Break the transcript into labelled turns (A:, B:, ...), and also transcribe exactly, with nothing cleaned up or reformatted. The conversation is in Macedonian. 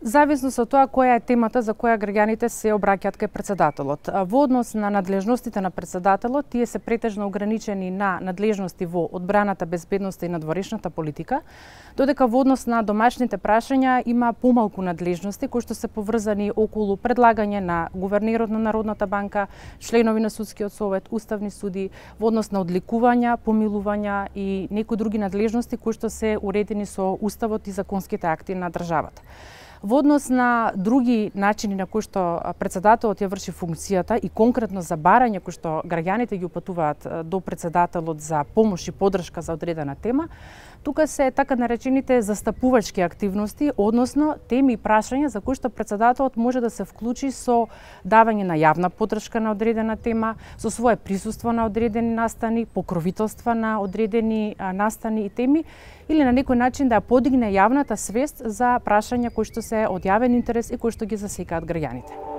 A: Зависно со тоа која е темата за која граѓаните се обраќаат кај претседателот. Во однос на надлежностите на претседателот, тие се претежно ограничени на надлежности во одбраната, безбедноста и надворешната политика, додека во однос на домашните прашања има помалку надлежности кои што се поврзани околу предлагање на гувернерот на Народната банка, членови на судскиот совет, уставни суди, во однос на одликувања, помилувања и некои други надлежности кои што се уредени со уставот и законските акти на државата. Во однос на други начини на кои што претседателот ја врши функцијата и конкретно за барање кои што граѓаните ги упатуваат до претседателот за помош и поддршка за одредена тема, тука се така наречените застапувачки активности, односно теми и прашања за кои што претседателот може да се вклучи со давање на јавна поддршка на одредена тема, со свое присуство на одредени настани, покровителства на одредени настани и теми, или на некој начин да подигне јавната свест за прашања кои што се од јавен интерес и кои што ги засекаат граѓаните.